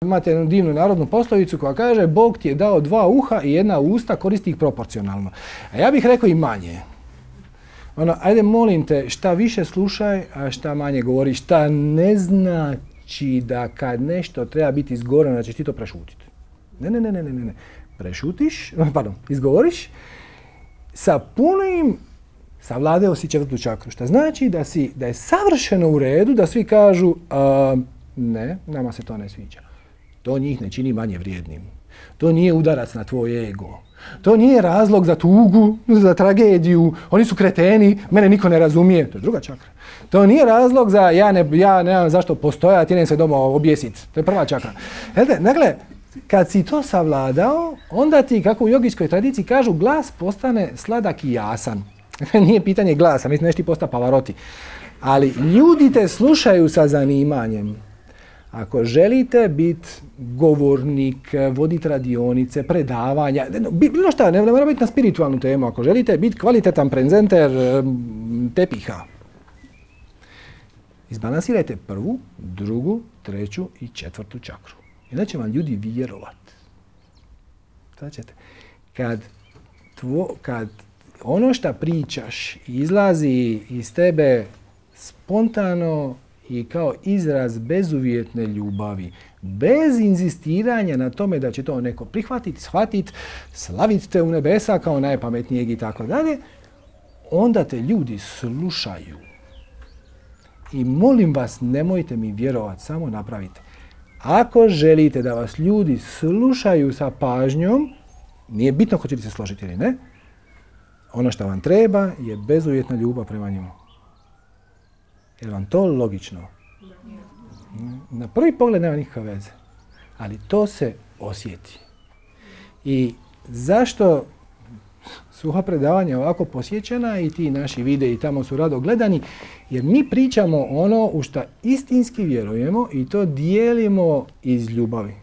Imate jednu divnu narodnu poslovicu koja kaže Bog ti je dao 2 uha i 1 usta, koristi ih proporcionalno. A ja bih rekao i manje. Ajde molim te, šta više slušaj, a šta manje govori. Šta ne znači da kad nešto treba biti izgovoreno da ćeš ti to prešutiti. Ne. Prešutiš, izgovoriš sa punim savladeo si 4. čakru. Šta znači da je savršeno u redu da svi kažu ne, nama se to ne sviđa. To njih ne čini manje vrijednim. To nije udarac na tvoj ego. To nije razlog za tugu, za tragediju. Oni su kreteni, mene niko ne razumije. To je 2. čakra. To nije razlog za ja nemam zašto postojati, idem se doma objesiti. To je 1. čakra. Dakle, kad si to savladao, onda ti, kako u jogijskoj tradiciji kažu, glas postane sladak i jasan. Nije pitanje glasa, mislim nešto ti posta Pavarotti. Ali ljudi te slušaju sa zanimanjem. Ako želite biti govornik, voditi radionice, predavanja, bilo šta, ne mora biti na spiritualnu temu. Ako želite biti kvalitetan prezenter tepiha, izbalansirajte 1., 2., 3. i 4. čakru. I da će vam ljudi vjerovati. Kad ono što pričaš izlazi iz tebe spontano i kao izraz bezuvjetne ljubavi, bez inzistiranja na tome da će to neko prihvatiti, shvatiti, slaviti te u nebesa kao najpametnijeg i tako dalje, onda te ljudi slušaju. I molim vas, nemojte mi vjerovati, samo napravite. Ako želite da vas ljudi slušaju sa pažnjom, nije bitno hoćete se složiti ili ne, ono što vam treba je bezuvjetna ljubav prema njemu. Je li vam to logično? Na prvi pogled nema nikakve veze, ali to se osjeti. I zašto su ova predavanja ovako posjećena i ti naši videi tamo su rado gledani? Jer mi pričamo ono u što istinski vjerujemo i to dijelimo iz ljubavi.